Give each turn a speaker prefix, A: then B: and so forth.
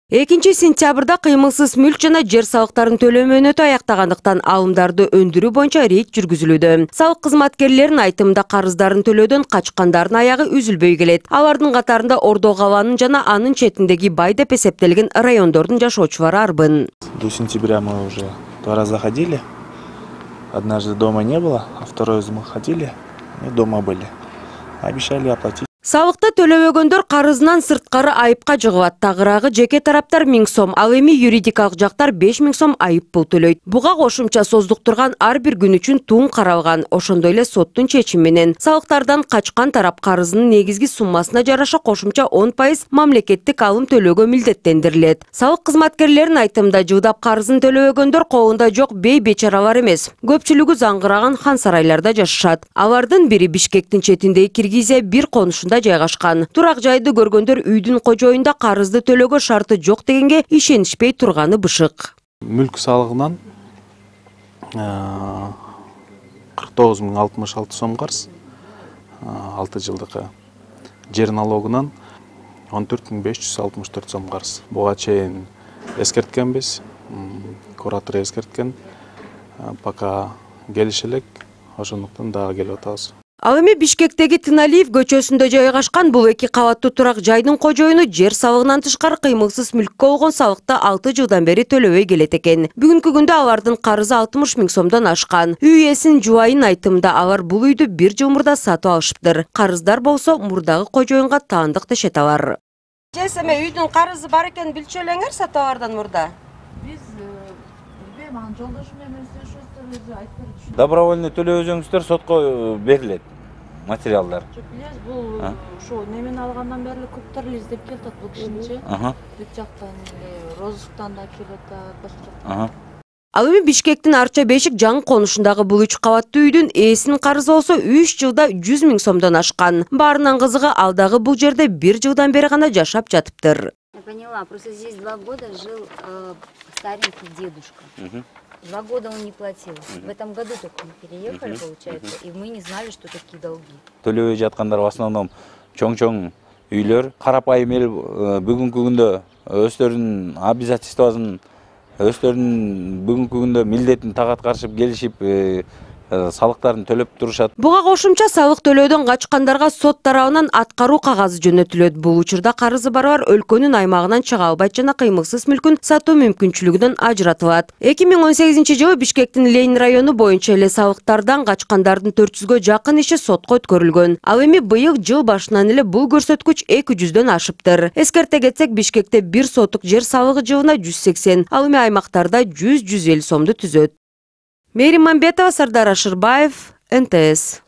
A: 2 сентябрда кыймылсыз мүлк жана жер салыктарын төлөө мөөнөтү аяктагандыктан алымдарды өндүрүү боюнча рейд жүргүзүлүүдө. Салык кызматкерлеринин айтымында карыздарын төлөөдөн качкандардын аягы үзүлбөй келет. Алардын катарында Ордо Калаанын жана анын четиндеги бай деп эсептелген райондордун жашоочулары арбын.
B: До сентября мы уже 2 раза ходили. Однажды дома не было, а второй раз мы ходили и дома были. Обещали оплатить.
A: Салыкты төлөбөгөндөр карызынан сырткары айыпка жыгылат. Тагыраагы жеке тараптар 1000 сом, ал эми юридикалык жактар 5000 сом айып пул төлөйт. Буга кошумча создуктурган ар бир күн үчүн тун каралган. Ошондой эле соттун чечими менен салыктардан качкан тарап карызынын негизги суммасына жараша кошумча 10% мамлекеттик алым төлөөгө милдеттендирилет. Салык кызматкерлеринин айтымында жылдап карызын төлөбөгөндөр колунда жок бей бечаралар эмес. Көпчүлүгү заңгыраган хан сарайларда жашашат. Алардын бири Бишкектин четиндеги Киргизия бир конушунда жайгашкан. Турак жайды көргөндөр үйдүн кожоюнда карызды төлөөгө шарты жок дегенге ишенишпей турганы бышык.
B: Мүлк салыгынан 49.066 сом карыз, 6 жылдыкы. Жер налогунан 14.564 сом карыз. Буга чейин эскерткенбиз, куратор эскерткен, пока келише элек, ошондуктан дагы келип атабыз.
A: Ал эми Бишкектеги Тыналиев көчөсүндө жайгашкан бул 2 кабаттуу турак жайдын кожоюну жер салыгынан тышкары кыймылсыз мүлккө болгон салыкты 6 жылдан бери төлөбөй келет экен. Бүгүнкү күндө алардын карызы 60 000 сомдон ашкан. Үй ээсинин жубайынын айтымында алар бул үйдү 1 жыл мурда сатып алышыптыр. Карыздар болсо мурдагы кожоюнга таандык дешет алар.
C: Эме үйдүн карызы бар экен билчү элеңер сатып алардан мурда.
D: Биз мага жолдошум менен сөзү айтып берди.
E: Добровольный төлөө өзүңүздөр сотко берилет материалдар.
D: Жок, билесиз, бул ошо немени алгандан бери көптөр издеп келатат бул кишинчи. Бүт жактан розысктан да келет, башка жактан.
A: Ал эми Бишкектин Арча Бешик жаңы конушундагы бул 3 кабаттуу үйдүн ээсинин карызы болсо 3 жылда 100 000 сомдон ашкан. Баарынан кызыгы ал дагы бул жерде 1 жылдан бери гана жашап жатыптыр.
F: Я поняла, просто здесь 2 года жил старенький дедушка. 2 года он не платил. В этом году только мы переехали, получается, и мы не знали, что такие долги.
E: Төлөбөй жаткандар в основном чоң-чоң үйлөр. Карапайым эл бүгүнкү күндө өздөрүнүн обязательствосын, өздөрүнүн бүгүнкү күндө милдетин так аткарышып келишип, салыктарын төлөп турушат.
A: Буга кошумча салык төлөөдөн качкандарга сот тарабынан аткаруу кагазы жөнөтүлөт. Бул учурда карызы барлар өлкөнүн аймагынан чыга албайт жана кыймылсыз мүлкүн сатуу мүмкүнчүлүгүнөн ажыратылат. 2018-жылы Бишкектин Ленин району боюнча эле салыктардан качкандардын 400гө жакын иши сотко өткөрүлгөн. Ал эми быйыл жыл башынан эле бул көрсөткүч 200дөн ашыптыр. Эскерте кетсек, Бишкекте 1 соттук жер салыгы жылына 180, ал эми аймактарда 100-150 сомду түзөт. Мээрим Мамбетова, Сардар Ашырбаев, НТС.